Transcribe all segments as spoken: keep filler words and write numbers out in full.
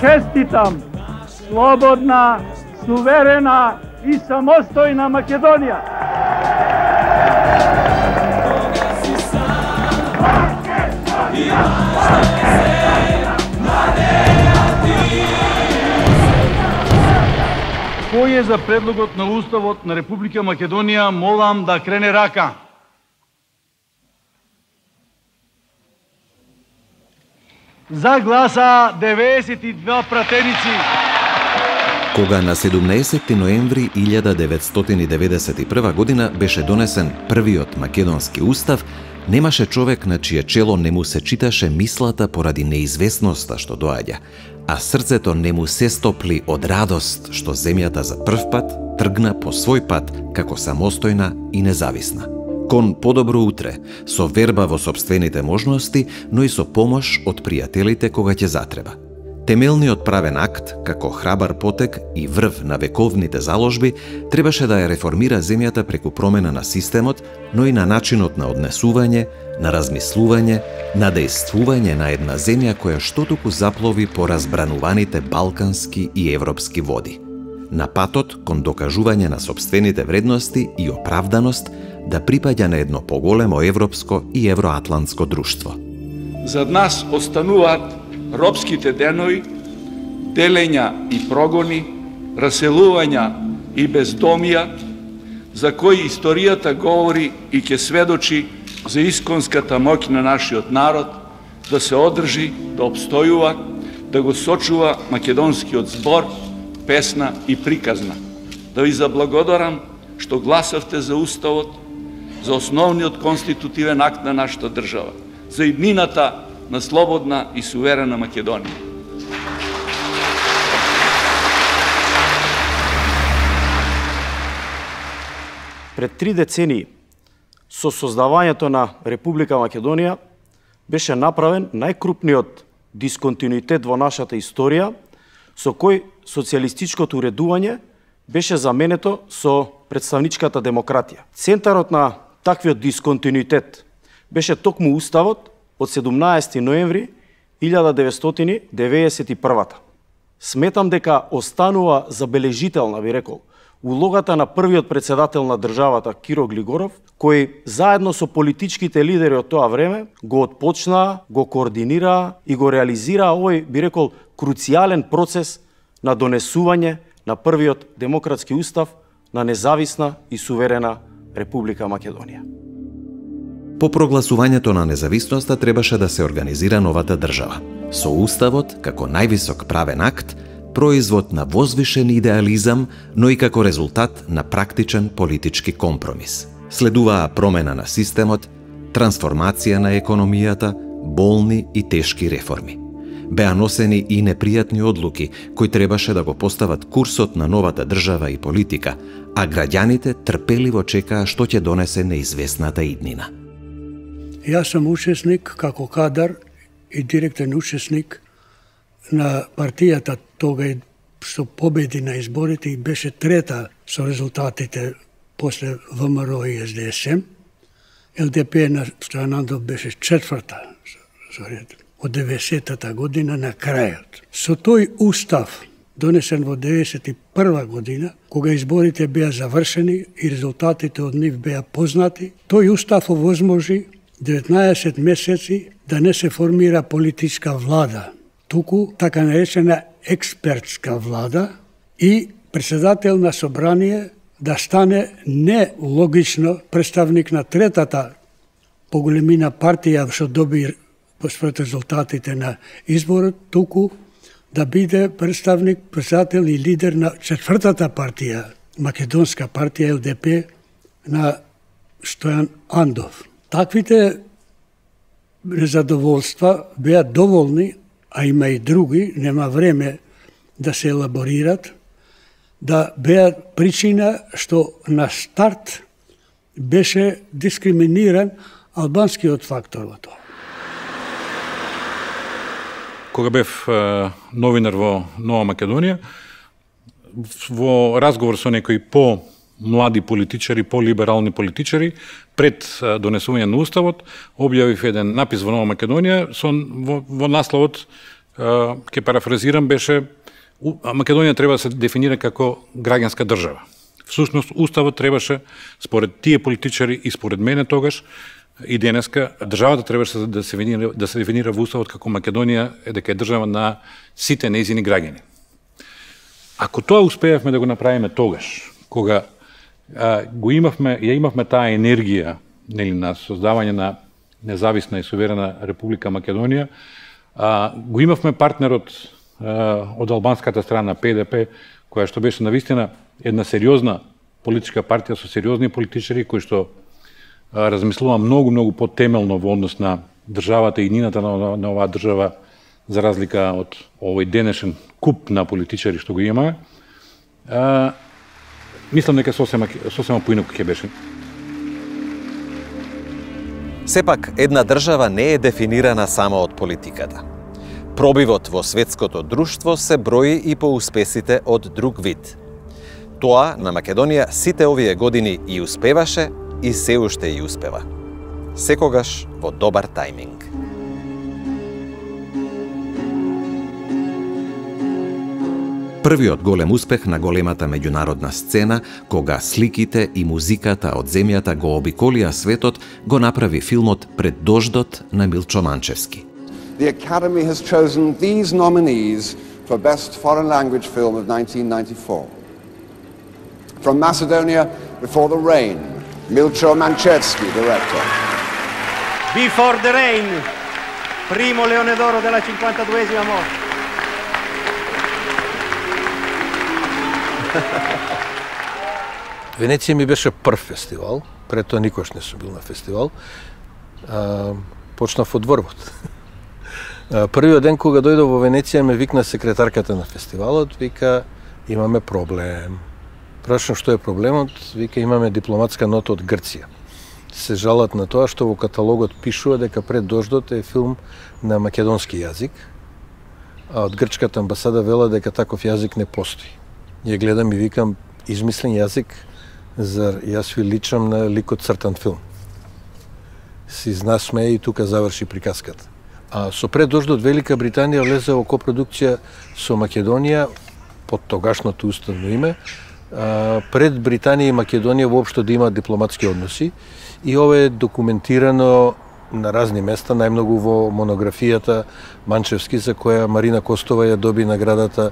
честитам слободна, суверена и самостојна Македонија. Кој е за предлогот на Уставот на Република Македонија, молам да крене рака. За гласа деветдесет и два пратеници. Кога на седумнаесетти ноември илјада деветстотини деветдесет и прва година беше донесен првиот македонски устав, немаше човек на чие чело не му се читаше мислата поради неизвестноста што доаѓа, а срцето не му се стопли од радост што земјата за прв пат тргна по свој пат како самостојна и независна. Кон подобро утре, со верба во сопствените можности, но и со помош од пријателите кога ќе затреба. Темелниот правен акт, како храбар потек и врв на вековните заложби, требаше да ја реформира земјата преку промена на системот, но и на начинот на однесување, на размислување, на дејствување на една земја која штотуку заплови по разбрануваните балкански и европски води. На патот кон докажување на сопствените вредности и оправданост да припаѓа на едно поголемо европско и евроатлантско друштво. Зад нас остануваат робските денови, делења и прогони, раселувања и бездомија, за кои историјата говори и ќе сведочи за исконската моќ на нашиот народ да се одржи, да обстојува, да го сочува македонскиот збор, песна и приказна. Да ви заблагодарам што гласавте за Уставот, за основниот конститутивен акт на нашата држава, за иднината на слободна и суверена Македонија. Пред три децении, со создавањето на Република Македонија, беше направен најкрупниот дисконтинуитет во нашата историја, со кој социјалистичкото уредување беше заменето со представничката демократија. Центарот на таквиот дисконтинуитет беше токму Уставот од седумнаесети ноември илјада деветстотини деветдесет и прва. Сметам дека останува забележителна, би рекол, улогата на првиот председател на државата Киро Глигоров, кој заедно со политичките лидери од тоа време го отпочнаа, го координираа и го реализираа овој, би рекол, круцијален процес на донесување на првиот демократски устав на независна и суверена Република Македонија. По прогласувањето на независноста требаше да се организира новата држава. Со Уставот, како највисок правен акт, производ на возвишен идеализам, но и како резултат на практичен политички компромис. Следуваа промена на системот, трансформација на економијата, болни и тешки реформи. Беа носени и непријатни одлуки, кои требаше да го постават курсот на новата држава и политика, а граѓаните трпеливо чекаа што ќе донесе неизвестната иднина. Јас сум учесник како кадар и директен учесник на партијата тога што победи на изборите и беше трета со резултатите после ВМРО и СДСМ. ЛДП на Стојан Андов беше четврта од деветдесетата година на крајот. Со тој устав, донесен во деветдесет и прва година, кога изборите беа завршени и резултатите од нив беа познати, тој устав овозможи деветнаесет месеци да не се формира политичка влада, туку така наречена експертска влада и председател на собрание да стане не логично представник на третата поголемина партија што доби според резултатите на изборот, туку да биде представник, председател и лидер на четвртата партија, македонска партија ЛДП на Стојан Андов. Таквите незадоволства беа доволни, а има и други, нема време да се елаборират, да беа причина што на старт беше дискриминиран албанскиот фактор во тоа. Кога бев новинар во Нова Македонија, во разговор со некои по-млади политичари, по-либерални политичари, пред донесување на Уставот, објавив еден напис во Нова Македонија со, во, во насловот ќе парафразирам, беше Македонија треба да се дефинира како граѓанска држава. Всушност, уставот требаше, според тие политичари и според мене тогаш, и денеска, државата требаше да се дефинира, да се дефинира во уставот како Македонија е дека е држава на сите нејзини граѓани. Ако тоа успеевме да го направиме тогаш, кога а, го имавме, ја имавме таа енергија, нели, на создавање на независна и суверена Република Македонија, а, го имавме партнерот а, од албанската страна Пе Де Пе, која што беше навистина една сериозна политичка партија со сериозни политичари кои што а, размислува многу многу потемелно во однос на државата и иднината на, на оваа држава, за разлика од овој денешен куп на политичари што го имаме. А, мислам дека сосема сосема поинаку ќе беше. Сепак, една држава не е дефинирана само од политиката. Пробивот во светското друштво се брои и по успесите од друг вид. Тоа на Македонија сите овие години и успеваше и се уште и успева. Секогаш во добар тајминг. Првиот голем успех на големата меѓународна сцена, кога сликите и музиката од земјата го обиколија светот, го направи филмот Пред дождот на Милчо Манчевски. The Academy has chosen these nominees for Best Foreign Language Film of nineteen ninety-four. From Macedonia, Before the Rain, Milcho Manchevski, director. Before the Rain, primo Leone d'Oro della cinquantaduesima mostra. Венеција ми беше прв фестивал, пред тоа никош не сум бил на фестивал. А, почнав од Дворбот. Првиот ден кога дојдов во Венеција ме викна секретарката на фестивалот, вика имаме проблем. Прашам што е проблемот, вика имаме дипломатска нота од Грција. Се жалат на тоа што во каталогот пишува дека Пред дождот е филм на македонски јазик, а од грчката амбасада вела дека таков јазик не постои. Ја гледам и викам измислен јазик, зар јас ви личам на ликот цртан филм. Си знасме и тука заврши приказката. А со Пред дождот Велика Британија влезе во копродукција со Македонија под тогашното уставно име, а, пред Британија и Македонија воопшто да имаат дипломатски односи и ова е документирано на разни места, најмногу во монографијата Манчевски, за која Марина Костова ја доби наградата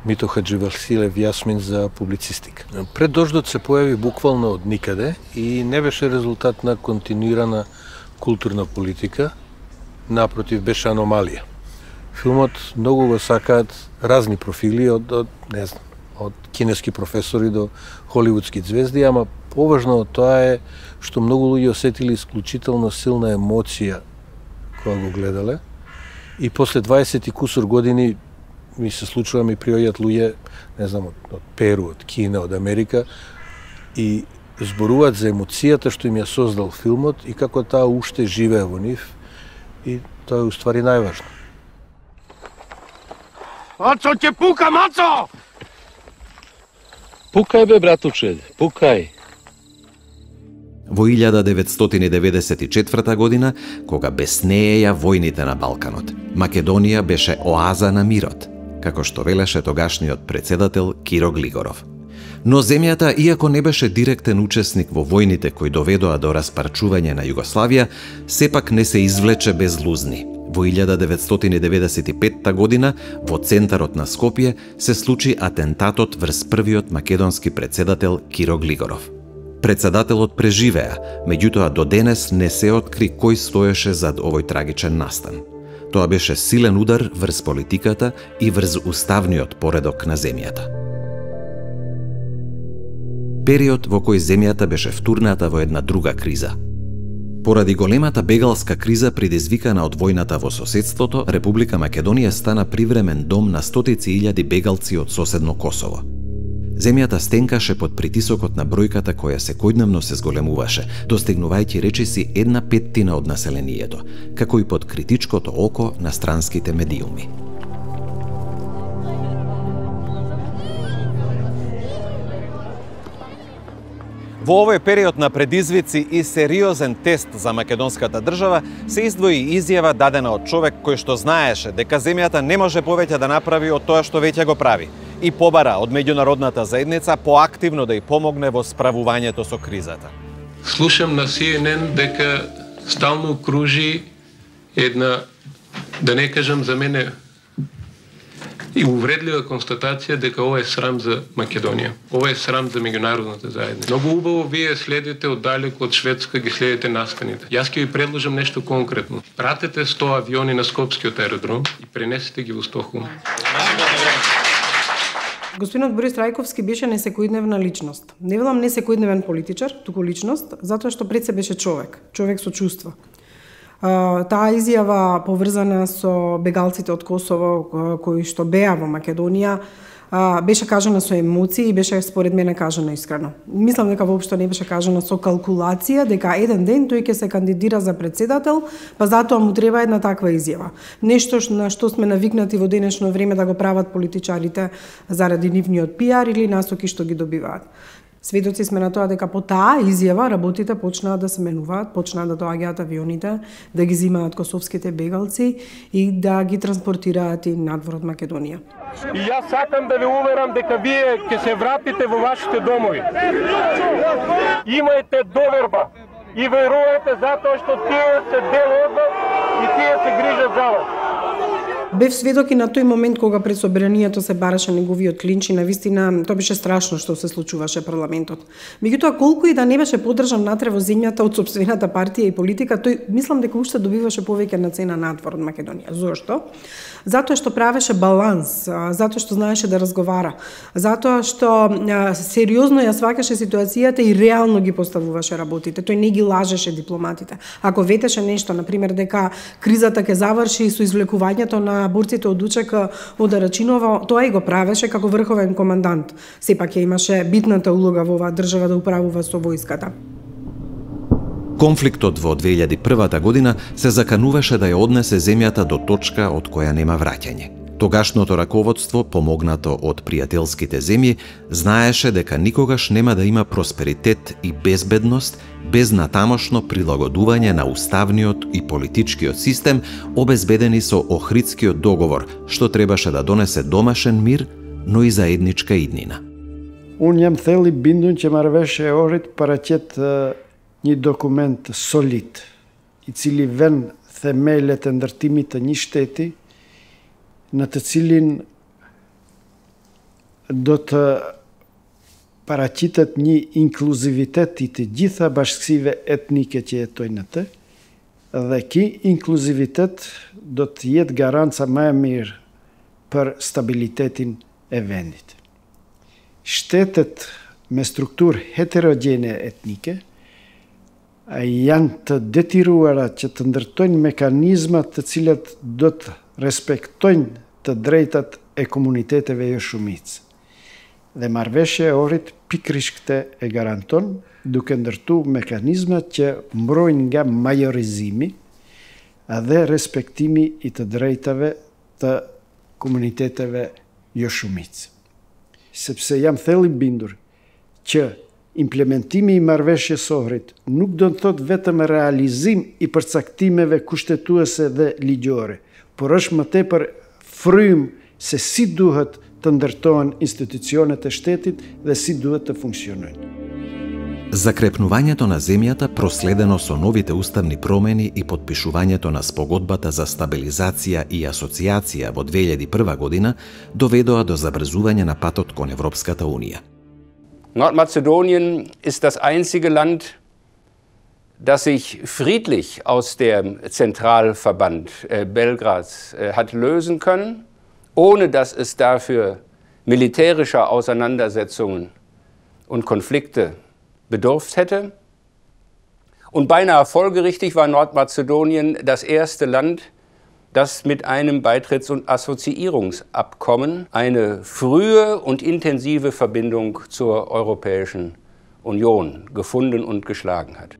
Мито Хадживасилев Јасмин за публицистика. Пред дождот се појави буквално од никаде и не беше резултат на континуирана културна политика, напротив беше аномалија. Филмот многу го сакаат разни профили од, од не знам, од кинески професори до холивудски звезди, ама поважно од тоа е што многу луѓе осетили исклучително силна емоција кога го гледале и после дваесет и кусур години ми се случува ми приоѓаат луѓе, не знам, од, од Перу, од Кина, од Америка и зборуваат за емоцијата што им ја создал филмот и како таа уште живее во нив и тоа е уствари најважно. Мацо ќе пука, Мацо! Пукај бе, братуче, пукај. Во илјада деветстотини деветдесет и четврта година, кога беснееја војните на Балканот, Македонија беше оаза на мирот, како што велеше тогашниот председател Киро Глигоров. Но земјата, иако не беше директен учесник во војните кои доведоа до распарчување на Југославија, сепак не се извлече без лузни. Во илјада деветстотини деветдесет и петта година, во центарот на Скопје, се случи атентатот врз првиот македонски председател Киро Глигоров. Председателот преживеа, меѓутоа до денес не се откри кој стоеше зад овој трагичен настан. Тоа беше силен удар врз политиката и врз уставниот поредок на земјата. Период во кој земјата беше втурната во една друга криза. Поради големата бегалска криза предизвикана од војната во соседството, Република Македонија стана привремен дом на стотици илјади бегалци од соседно Косово. Земјата стенкаше под притисокот на бројката која секојдневно се зголемуваше, достигнувајќи речиси една петтина од населението, како и под критичкото око на странските медиуми. Во овој период на предизвици и сериозен тест за македонската држава се издвои изјава дадена од човек кој што знаеше дека земјата не може повеќе да направи од тоа што веќе го прави и побара од меѓународната заедница поактивно да ја помогне во справувањето со кризата. Слушам на Си Ен Ен дека стално кружи една, да не кажам за мене, и увредлива констатација дека ова е срам за Македонија. Ова е срам за меѓународната заедница. Многу убаво вие следите оддалеку од Шведска, ги следите настаните. Јас ќе ви предложам нешто конкретно. Пратете сто авиони на Скопскиот аеродром и пренесете ги во Стокхолм. Господинот Борис Трајковски беше несекојдневна личност. Не велам несекојдневен политичар, туку личност, затоа што пред се беше човек, човек со чувства. Таа изјава поврзана со бегалците од Косово кои што беа во Македонија беше кажана со емоции и беше според мене кажана искрено. Мислам дека воопшто не беше кажана со калкулација дека еден ден тој ќе се кандидира за председател, па затоа му треба една таква изјава. Нешто на што сме навикнати во денешно време да го прават политичарите заради нивниот пиар или насоки што ги добиваат. Сведоци сме на тоа дека по таа изјава работите почнаа да се менуваат, почнаа да доаѓаат авионите, да ги зимаат косовските бегалци и да ги транспортираат и надвор од Македонија. И јас сакам да ве уверам дека вие ќе се вратите во вашите домови. Имајте доверба и верувајте затоа што тие се дел од вас и тие се грижат за вас. Бев сведок и на тој момент кога пред собранието се бараше неговиот клинч и навистина тоа беше страшно што се случуваше парламентот. Меѓутоа колку и да не беше поддржан натре во земјата од сопствената партија и политика, тој мислам дека уште добиваше повеќе на цена надвор од Македонија. Зошто? Затоа што правеше баланс, затоа што знаеше да разговара, затоа што сериозно ја сваќаше ситуацијата и реално ги поставуваше работите. Тој не ги лажеше дипломатите. Ако ветеше нешто, на пример дека кризата ќе заврши со извлекувањето на борците од УЧК од Арачинова, тоа и го правеше како врховен командант. Сепак ја имаше битната улога во оваа држава да управува со војската. Конфликтот во две илјади и прва година се закануваше да ја однесе земјата до точка од која нема враќање. Тогашното раководство, помогнато од пријателските земји, знаеше дека никогаш нема да има просперитет и безбедност без натамошно прилагодување на уставниот и политичкиот систем, обезбедени со Охридскиот договор, што требаше да донесе домашен мир, но и заедничка иднина. Unë jam theli bindun që marrëveshja e Ohrit paraqet një dokument solid, i cili vën themelet e ndërtimit të një shteti, në të cilin do të paraqitet një inkluzivitet i të gjitha bashkësive etnike që jetojnë atë, dhe ky inkluzivitet do të jetë garanca më e mirë për stabilitetin e vendit. Shtetet me strukturë heterogjene etnike janë të detyruara që të ndërtojnë mekanizma të cilat do të respektojnë të drejtat e komuniteteve jo shumicë. Dhe marrëveshja e Ohrit pikërisht këtë e garanton, duke ndërtu mekanizma që mbrojnë nga majorizimi dhe respektimi i të drejtave të komuniteteve jo shumicë. Sepse jam thellë i bindur që implementimi i marrëveshjes së Ohrit nuk do të thotë vetëm realizim i përcaktimeve kushtetuese dhe ligjore, por është më tepër frym se si duhet të ndërtohen institucionet e shtetit dhe si duhet të funksionojnë. Закрепнувањето на земјата проследено со новите уставни промени и подпишувањето на спогодбата за стабилизација и асоциација во две илјади и прва година доведоа до забрзување на патот кон Европската Унија. Nordmazedonien ist das einzige Land, das sich friedlich aus dem Zentralverband äh, Belgrads äh, hat lösen können, ohne dass es dafür militärischer Auseinandersetzungen und Konflikte bedurft hätte. Und beinahe folgerichtig war Nordmazedonien das erste Land, das mit einem Beitritts- und Assoziierungsabkommen eine frühe und intensive Verbindung zur Europäischen Union gefunden und geschlagen hat.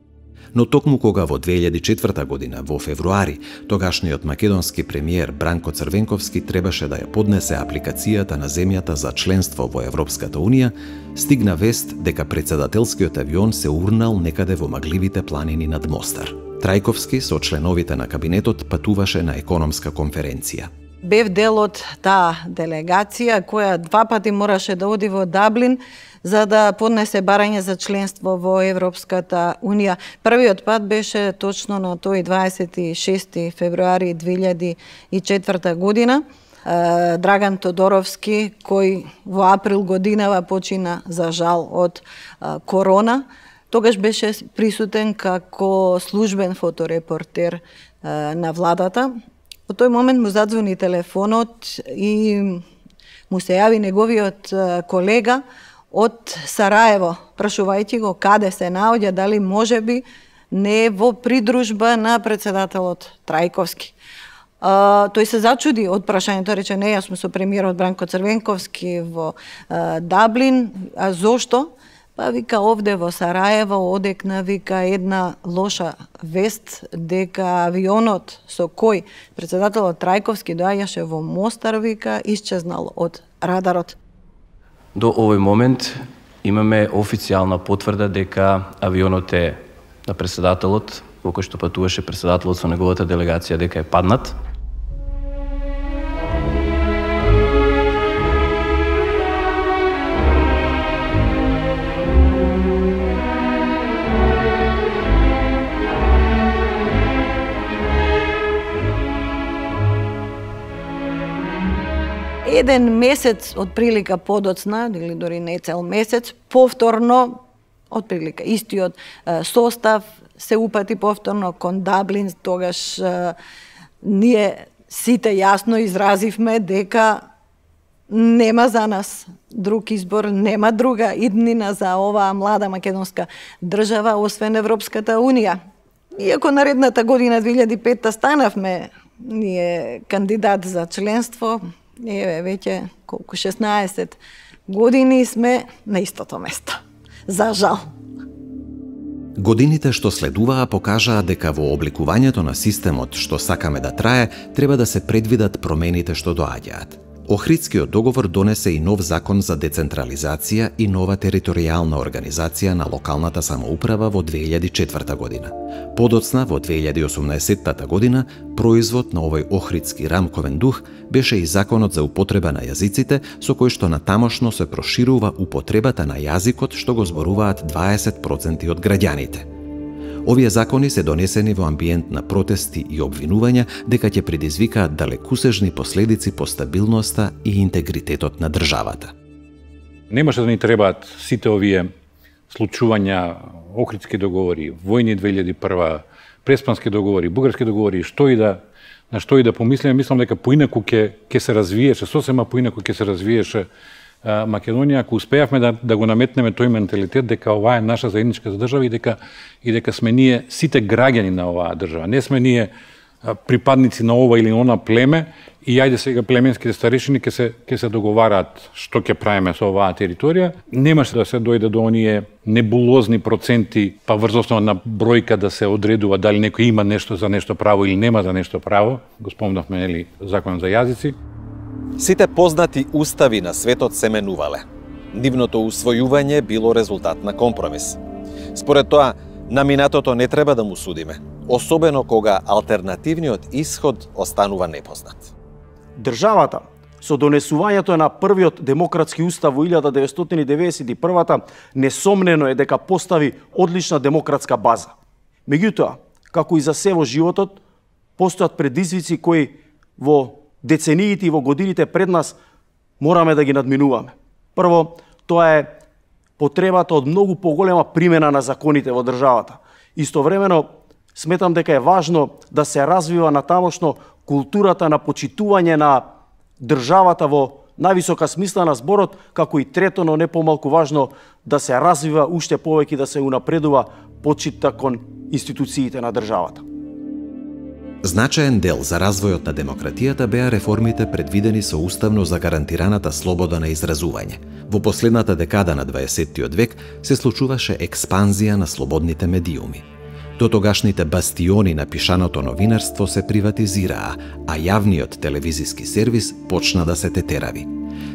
Но токму кога во две илјади и четврта година, во февруари, тогашниот македонски премиер Бранко Црвенковски требаше да ја поднесе апликацијата на земјата за членство во Европската Унија, стигна вест дека председателскиот авион се урнал некаде во магливите планини над Мостар. Трајковски со членовите на кабинетот патуваше на економска конференција. Бев дел од таа делегација која два пати мораше да оди во Даблин за да поднесе барање за членство во Европската Унија. Првиот пат беше точно на тој дваесет и шести февруари две илјади и четврта година. Драган Тодоровски, кој во април годинава почина за жал од корона, тогаш беше присутен како службен фоторепортер на владата. Во тој момент му задзвони телефонот и му се јави неговиот колега од Сараево, прашувајќи го каде се наоѓа, дали може би не во придружба на председателот Трајковски. Uh, тој се зачуди од прашањето, рече не, јас сум со премиерот Бранко Црвенковски во uh, Даблин, а зошто? Па вика овде во Сараево одекна вика една лоша вест дека авионот со кој председателот Трајковски доаѓаше во Мостар вика исчезнал од радарот. До овој момент имаме официјална потврда дека авионот е на председателот, во кој што патуваше председателот со неговата делегација, дека е паднат. Еден месец од прилика подоцна, или дори не цел месец, повторно, од прилика истиот состав, се упати повторно кон Даблин, тогаш е, ние сите јасно изразивме дека нема за нас друг избор, нема друга иднина за оваа млада македонска држава, освен Европската Унија. Иако наредната година две илјади и петта станавме ние кандидат за членство, еве веќе колку шеснаесет години сме на истото место. За жал. Годините што следуваа покажаа дека во обликувањето на системот што сакаме да трае, треба да се предвидат промените што доаѓаат. Охридскиот договор донесе и нов закон за децентрализација и нова територијална организација на локалната самоуправа во две илјади и четврта година. Подоцна, во две илјади и осумнаесетта година, производ на овој охридски рамковен дух беше и законот за употреба на јазиците, со кој што натамошно се проширува употребата на јазикот што го зборуваат дваесет проценти од граѓаните. Овие закони се донесени во амбиент на протести и обвинувања дека ќе предизвикаат далекусежни последици по стабилноста и интегритетот на државата. Немаше да ни требаат сите овие случувања, охридски договори, војни две илјади и прва, преспански договори, бугарски договори, што и да на што и да помислиме, мислам дека поинаку ќе ќе се развиеше, сосема поинаку ќе се развиеше Македонија, ако успеавме да, да го наметнеме тој менталитет дека оваа е наша заедничка држава и дека и дека сме ние сите граѓани на оваа држава. Не сме ние припадници на ова или она племе и ајде сега племенските старешини ќе се ќе се договараат што ќе правиме со оваа територија. Немаше да се дојде до оние небулозни проценти, па врз основа на бројка да се одредува дали некој има нешто за нешто право или нема за нешто право. Го спомнавме, нели, законот за јазици. Сите познати устави на светот се менувале. Нивното усвојување било резултат на компромис. Според тоа, на минатото не треба да му судиме, особено кога алтернативниот исход останува непознат. Државата, со донесувањето на првиот демократски устав во илјада деветстотини деветдесет и прва несомнено е дека постави одлична демократска база. Меѓутоа, како и за се во животот, постојат предизвици кои во децениите и во годините пред нас мораме да ги надминуваме. Прво, тоа е потребата од многу поголема примена на законите во државата. Истовремено, сметам дека е важно да се развива натамошно културата на почитување на државата во највисока смисла на зборот, како и трето, но не помалку важно, да се развива уште повеќе, да се унапредува почитта кон институциите на државата. Значаен дел за развојот на демократијата беа реформите предвидени со уставно загарантираната слобода на изразување. Во последната декада на дваесеттиот век се случуваше експанзија на слободните медиуми. Дотогашните бастиони на пишаното новинарство се приватизираа, а јавниот телевизиски сервис почна да се тетерави.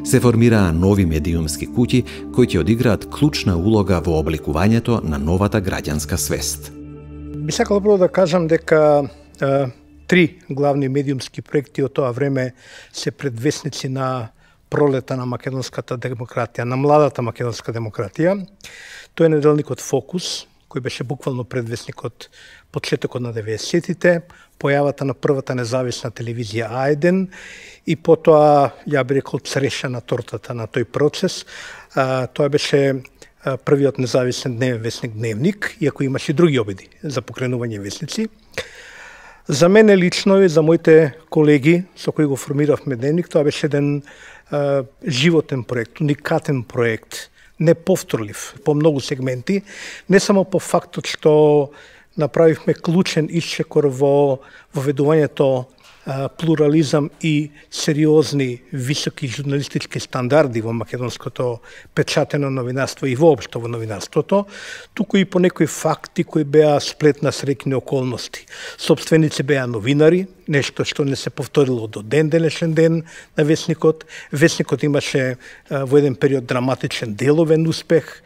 Се формираа нови медиумски куќи кои ќе одиграат клучна улога во обликувањето на новата граѓанска свест. Би сакал прво да кажам дека е, три главни медиумски проекти од тоа време се предвесници на пролета на македонската демократија, на младата македонска демократија. Тој е неделникот Фокус, кој беше буквално предвесник од почетокот на деветдесетите, појавата на првата независна телевизија А еден и потоа, ја би рекол, цреша на тортата на тој процес. А, тоа беше а, првиот независен дневен весник Дневник, иако имаше и други обиди за покренување весници. За мене лично и за моите колеги со кои го формиравме Дневник, тоа беше еден а, животен проект, уникатен проект, неповторлив по многу сегменти, не само по фактот што направивме клучен исчекор во воведувањето плурализам и сериозни високи журналистички стандарди во македонското печатено новинарство и воопшто во новинарството, туку и по некои факти кои беа сплет на среќни околности. Собственици беа новинари, нешто што не се повторило до ден денешен ден на Весникот. Весникот имаше а, во еден период драматичен деловен успех,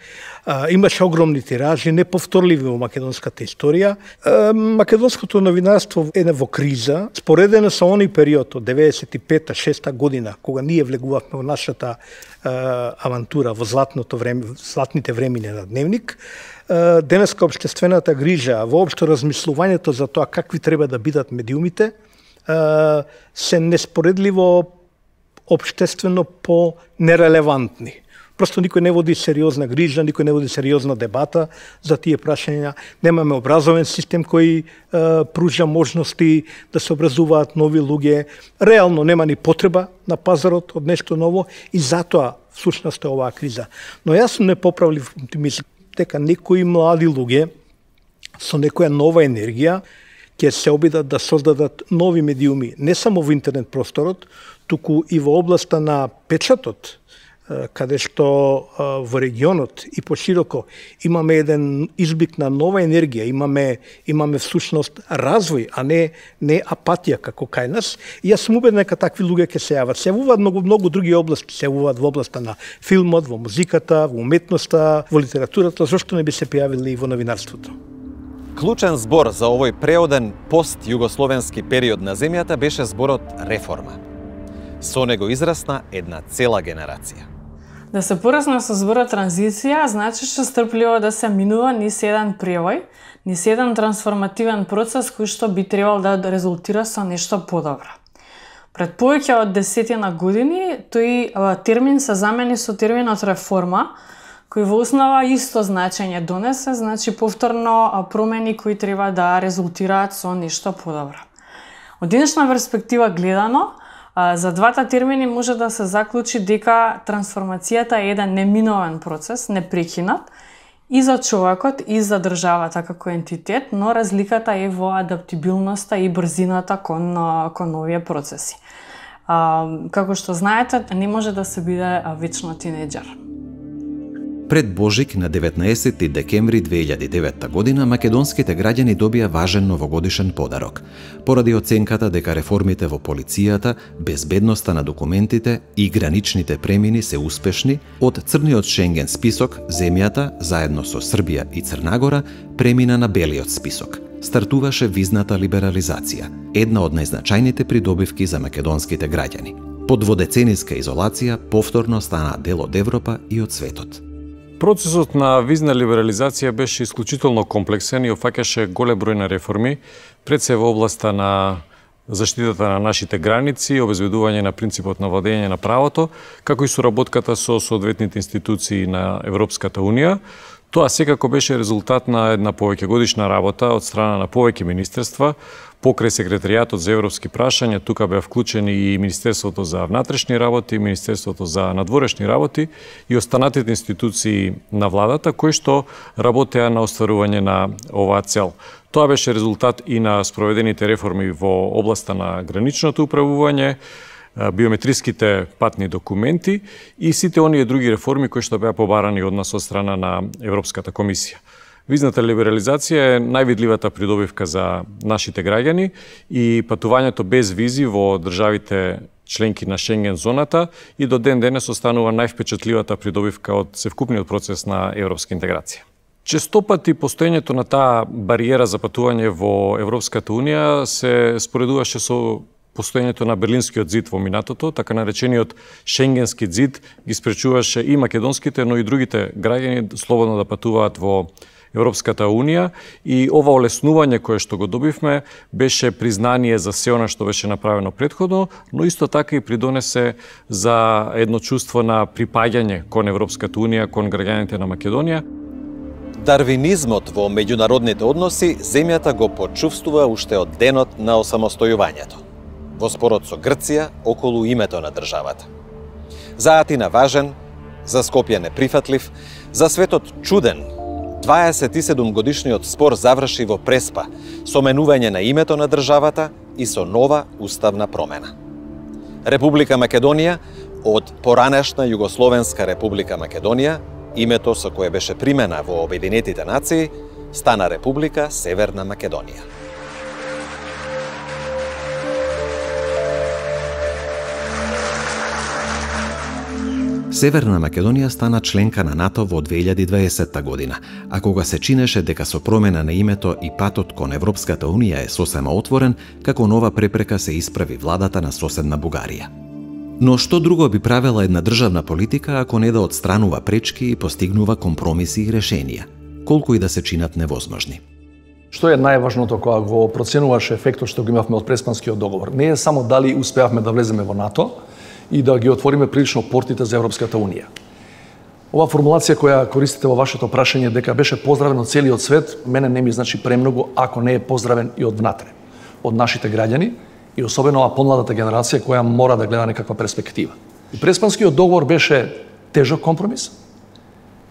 а, имаше огромни тиражи, неповторливи во македонската историја. А, македонското новинарство е во криза, споредено со оној период од деветдесет и пета шеста година, кога ние влегувавме во нашата а, авантура, во златното време, златните времиња на Дневник. А, денеска општествената грижа, воопшто размислувањето за тоа какви треба да бидат медиумите, а, се неспоредливо општествено по нерелевантни. Просто никој не води сериозна грижа, никој не води сериозна дебата за тие прашања. Немаме образовен систем кој е, пружа можности да се образуваат нови луѓе. Реално нема ни потреба на пазарот од нешто ново и затоа всушност е оваа криза. Но јас сум непоправлив оптимист дека некои млади луѓе со некоја нова енергија ќе се обидат да создадат нови медиуми, не само во интернет просторот, туку и во областа на печатот, каде што во регионот и пошироко имаме еден изблик на нова енергија, имаме имаме всушност развој, а не не апатија како кај нас. И јас сум убеден дека такви луѓе ќе се јават. Се јавуваат многу многу други области, се јавуваат во областа на филмот, во музиката, во уметноста, во литературата, зошто не би се појавили и во новинарството. Клучен збор за овој преоден пост-југословенски период на земјата беше зборот реформа. Со него израсна една цела генерација. Да се порасна со зборот транзиција, значеше стрпливо да се минува низ еден превој, низ еден трансформативен процес кој што би требал да резултира со нешто подобро. Пред повеќе од десетина години, тој термин се замени со терминот реформа, кој во основа исто значење донесе, значи повторно промени кои треба да резултираат со нешто подобро. Од денешна перспектива гледано, за двата термини може да се заклучи дека трансформацијата е еден неминовен процес, непрекинат, и за човекот, и за државата како ентитет, но разликата е во адаптибилноста и брзината кон, кон овие процеси. А, како што знаете, не може да се биде вечно тинеџер. Пред Божик на деветнаесети декември две илјади и девета година македонските граѓани добија важен новогодишен подарок. Поради оценката дека реформите во полицијата, безбедноста на документите и граничните премини се успешни, од црниот Шенген список земјата, заедно со Србија и Црнагора, премина на белиот список. Стартуваше визната либерализација, една од најзначајните придобивки за македонските граѓани. Под дводецениска изолација повторно стана дел од Европа и од светот. Процесот на визна либерализација беше исклучително комплексен и офаќаше голем број на реформи, пред се во областа на заштитата на нашите граници, обезбедување на принципот на владење на правото, како и соработката со соодветните институции на Европската Унија. Тоа секако беше резултат на една повеќегодишна работа од страна на повеќе министерства, покрај секретаријатот за европски прашања, тука беа вклучени и Министерството за внатрешни работи, Министерството за надворешни работи и останатите институции на владата кои што работеа на остварување на оваа цел. Тоа беше резултат и на спроведените реформи во областа на граничното управување, биометриските патни документи и сите оние други реформи кои што беа побарани од нас од страна на Европската комисија. Визната либерализација е највидливата придобивка за нашите граѓани и патувањето без визи во државите членки на Шенген зоната и до ден денес останува највпечатливата придобивка од севкупниот процес на европска интеграција. Честопати постоењето на таа бариера за патување во Европската Унија се споредуваше со постоењето на Берлинскиот зид во минатото, така наречениот Шенгенски зид ги спречуваше и македонските, но и другите граѓани слободно да патуваат во Европската Унија и ова олеснување кое што го добивме беше признание за се она што беше направено претходно, но исто така и придонесе за едно чувство на припаѓање кон Европската Унија, кон граѓаните на Македонија. Дарвинизмот во меѓународните односи земјата го почувствува уште од денот на осамостојувањето. Во спорот со Грција околу името на државата. За Атина важен, за Скопје неприфатлив, за светот чуден, дваесет и седум годишниот спор заврши во преспа, со менување на името на државата и со нова уставна промена. Република Македонија од поранешна Југословенска Република Македонија, името со кое беше примена во Обединетите нации, стана Република Северна Македонија. Северна Македонија стана членка на НАТО во две илјади и дваесетта година, а кога се чинеше дека со промена на името и патот кон Европската Унија е сосема отворен, како нова препрека се исправи владата на соседна Бугарија. Но што друго би правела една државна политика ако не да отстранува пречки и постигнува компромиси и решенија, колку и да се чинат невозможни? Што е најважното кога го проценуваш ефектот што го имавме од Преспанскиот договор? Не е само дали успеавме да влеземе во НАТО и да ги отвориме прилично портите за Европската Унија. Ова формулација која користите во вашето прашање дека беше поздравен од целиот свет, мене не ми значи премногу ако не е поздравен и од внатре, од нашите граѓани, и особено ова помладата генерација која мора да гледа некаква перспектива. И Преспанскиот договор беше тежок компромис,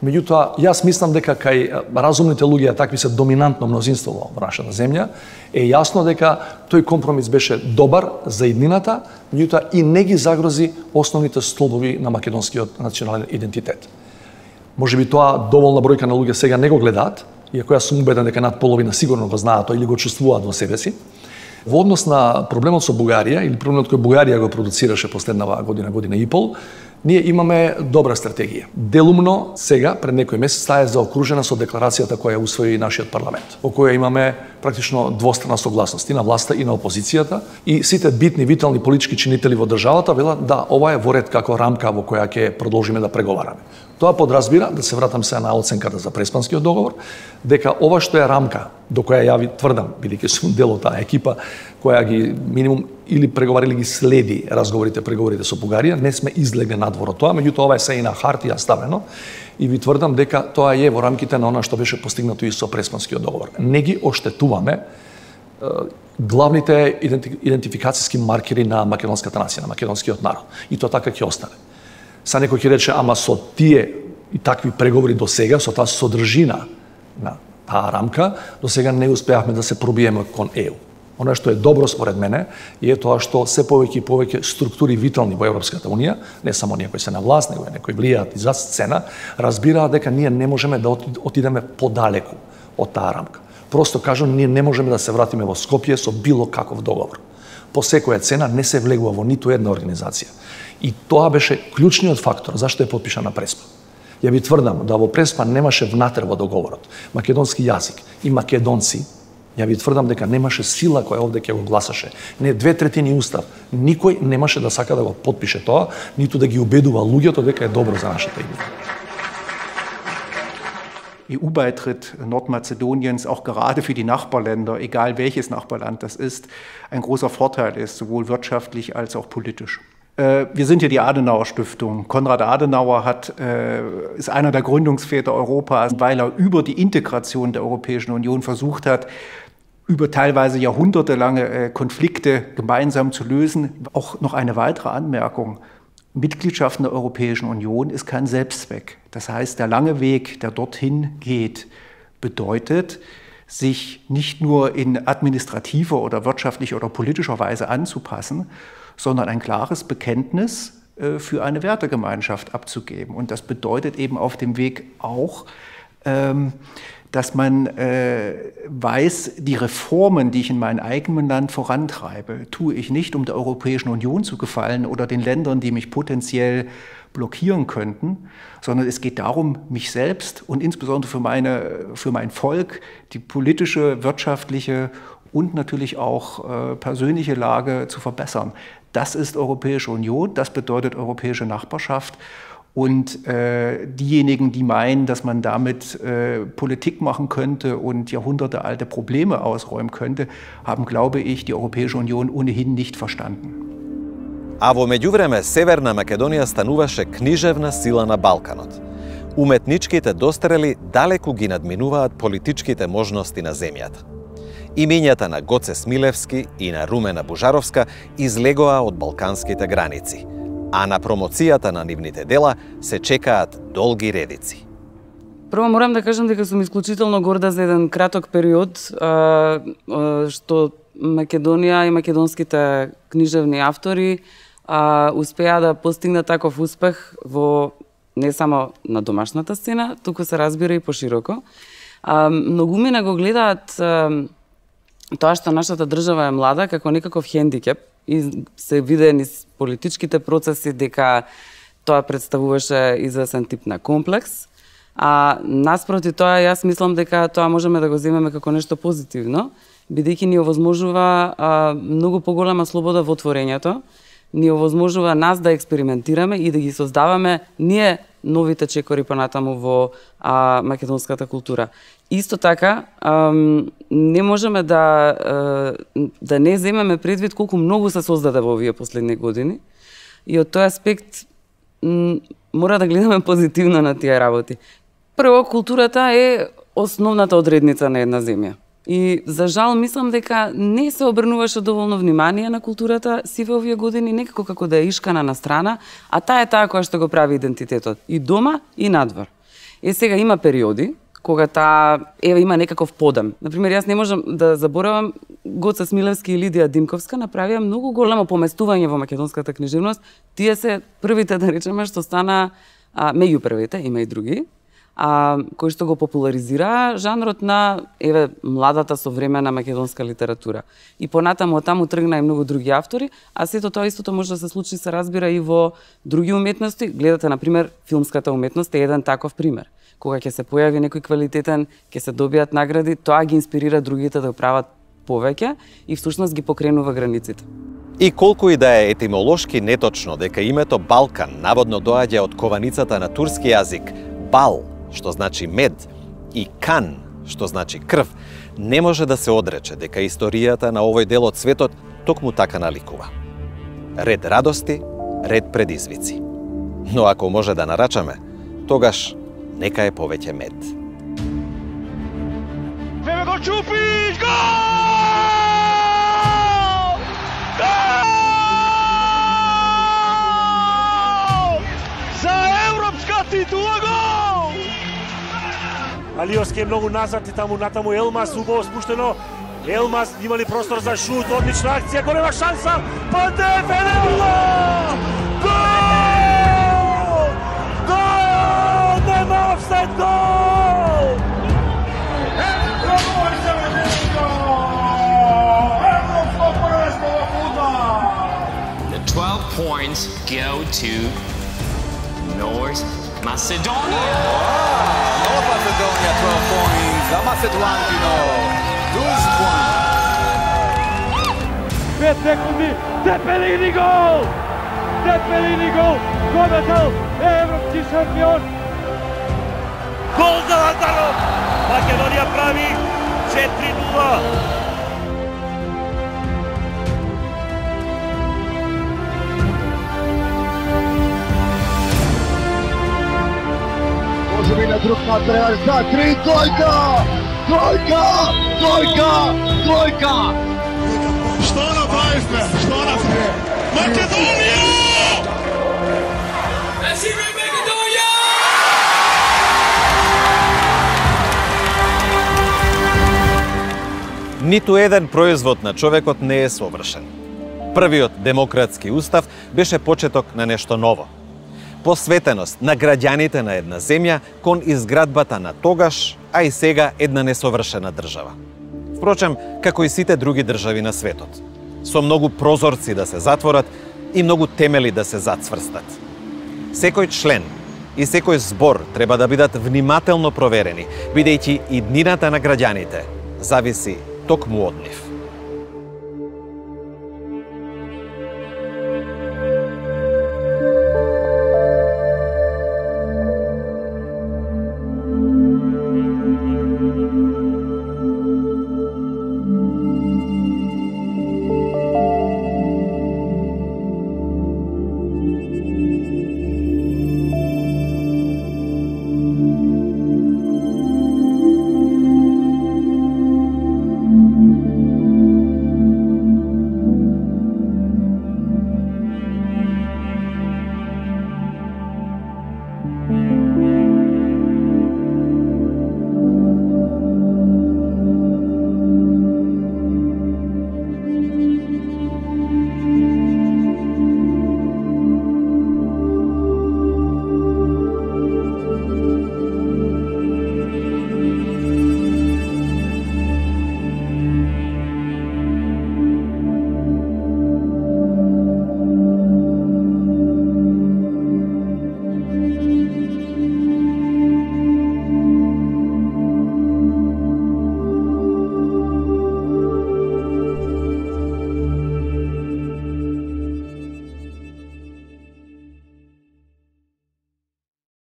меѓутоа јас мислам дека кај разумните луѓе, такви се доминантно мнозинство во нашата земја, е јасно дека тој компромис беше добар за иднината, меѓутоа и не ги загрози основните столбови на македонскиот национален идентитет. Може би тоа доволна бројка на луѓе сега не го гледаат, иако јас сум убеден дека над половина сигурно го знаат тоа или го чувствуваат во себе си. Во однос на проблемот со Бугарија, или проблемот кој Бугарија го продуцираше последнава година, година и пол, ние имаме добра стратегија. Делумно сега, пред некој месец, таа е заокружена со декларацијата која усвои нашиот парламент, во која имаме практично двострана согласност и на власта и на опозицијата, и сите битни, витални политички чинители во државата велат да, ова е во ред како рамка во која ќе продолжиме да преговараме. Тоа подразбира, да се вратам сега на оценката за Преспанскиот договор, дека ова што е рамка, до која ја ви тврдам, бидејќи сум дел од таа екипа, која ги минимум или преговари или ги следи разговорите, преговорите со Бугарија, не сме излегли надвор од тоа, меѓутоа ова е се и на хартија ставено, и ви тврдам дека тоа е во рамките на она што беше постигнато и со Преспанскиот договор. Не ги оштетуваме е, главните идентификацијски маркери на македонската нација, на македонскиот народ. И тоа така ќе остане. Са некој ќе рече, ама со тие и такви преговори до сега, со таа содржина на таа рамка, до сега не успеавме да се пробиеме кон Е У. Оно што е добро според мене е тоа што се повеќе и повеќе структури витални во Европската Унија, не само ние кои се на власт, него и некои влијаат иззад сцена, разбираат дека ние не можеме да отидеме подалеку од таа рамка. Просто кажам, ние не можеме да се вратиме во Скопје со било каков договор. По секоја цена не се влегува во ниту една организација. И тоа беше клучниот фактор зашто е потпишана Преспа. Ја ви тврдам да во Преспа немаше внатре во договорот македонски јазик и македонци. Ја ви тврдам дека немаше сила која овде ќе го гласаше. Не две третини устав. Никој немаше да сака да го потпише тоа, ниту да ги убедува луѓето дека е добро за нашата иднина. E U-Beitritt Nordmazedoniens auch gerade für die Nachbarländer, egal welches Nachbarland das ist, ein großer Vorteil ist, sowohl wirtschaftlich als auch politisch. Wir sind ja die Adenauer-Stiftung. Konrad Adenauer hat, ist einer der Gründungsväter Europas, weil er über die Integration der Europäischen Union versucht hat, über teilweise jahrhundertelange Konflikte gemeinsam zu lösen. Auch noch eine weitere Anmerkung. Mitgliedschaft in der Europäischen Union ist kein Selbstzweck. Das heißt, der lange Weg, der dorthin geht, bedeutet, sich nicht nur in administrativer oder wirtschaftlicher oder politischer Weise anzupassen, sondern ein klares Bekenntnis für eine Wertegemeinschaft abzugeben. Und das bedeutet eben auf dem Weg auch, dass man äh, weiß, die Reformen, die ich in meinem eigenen Land vorantreibe, tue ich nicht, um der Europäischen Union zu gefallen oder den Ländern, die mich potenziell blockieren könnten, sondern es geht darum, mich selbst und insbesondere für, meine, für mein Volk, die politische, wirtschaftliche und natürlich auch äh, persönliche Lage zu verbessern. Das ist Europäische Union, das bedeutet europäische Nachbarschaft. Und äh, diejenigen, die meinen, dass man damit äh, Politik machen könnte und jahrhundertealte Probleme ausräumen könnte, haben, glaube ich, die Europäische Union ohnehin nicht verstanden. А во меѓувреме Северна Македонија стануваше книжевна сила на Балканот. Уметничките дострели далеку ги надминуваат политичките можности на земјата. Имињата на Гоце Смилевски и на Румена Бужаровска излегоа од балканските граници, а на промоцијата на нивните дела се чекаат долги редици. Прво морам да кажам дека сум исклучително горда за еден краток период а, а, што Македонија и македонските книжевни автори а, успеа да постигнат таков успех во не само на домашната сцена, туку се разбира и пошироко. А, многумина го гледаат а, тоа што нашата држава е млада како некаков хендикеп и се виде низ политичките процеси дека тоа представуваше известен тип на комплекс. А наспроти тоа, јас мислам дека тоа можеме да го земеме како нешто позитивно, бидејќи ни овозможува а, многу поголема слобода во творењето, ни овозможува нас да експериментираме и да ги создаваме ние новите чекори понатаму во а, македонската култура. Исто така, а, не можеме да, а, да не земеме предвид колку многу се создаде во овие последни години и од тој аспект мора да гледаме позитивно на тие работи. Прво, културата е основната одредница на една земја. И за жал мислам дека не се обрнуваше доволно внимание на културата си во овие години, некако како да е ишкана на страна, а таа е таа која што го прави идентитетот и дома и надвор. Е сега има периоди кога таа еве има некаков подем. Например, јас не можам да заборавам Гоце Смилевски и Лидија Димковска направија многу големо поместување во македонската книжевност. Тие се првите, да речеме, што стана а, меѓу првите, има и други, а, кои што го популаризира жанрот на еве младата современа македонска литература. И понатаму од таму тргна и многу други автори, а сето тоа истото може да се случи, се разбира, и во други уметности. Гледате, например, филмската уметност е еден таков пример. Кога ќе се појави некој квалитетен, ќе се добијат награди, тоа ги инспирира другите да го прават повеќе и всушност ги покренува границите. И колку и да е етимолошки неточно дека името Балкан наводно доаѓа од кованицата на турски јазик бал, што значи мед, и кан, што значи крв, не може да се одрече дека историјата на овој дел од светот токму така наликува. Ред радости, ред предизвици. Но ако може да нарачаме, тогаш нека е повеќе мед. Веме го чупиш! Гол! Гол! За европска титула гол! Алиовски е многу назад и таму натаму Елмас убаво спуштено. Елмас има ли простор за шут, одлична акција, голема шанса. Пантев е гол! Гол! Нема офсайд гол! The twelve points go to North Macedonia. North Macedonia, twelve points. La Macedonino, twelve points. пет секунди, Тепелини гол! Тепелини гол! Победил европски шампион! Гол за Лазаров! Македонија прави четири нула. Може би на друг материал за три, двојка! Двојка! Двојка! Двојка! Што направивме? Што направивме? Македонија! Живе Македонија! Ниту еден производ на човекот не е совршен. Првиот демократски устав беше почеток на нешто ново. посветеност на граѓаните на една земја кон изградбата на тогаш, а и сега една несовршена држава. Впрочем, како и сите други држави на светот, со многу прозорци да се затворат и многу темели да се зацврстат. Секој член и секој збор треба да бидат внимателно проверени, бидејќи и днината на граѓаните зависи токму од нив.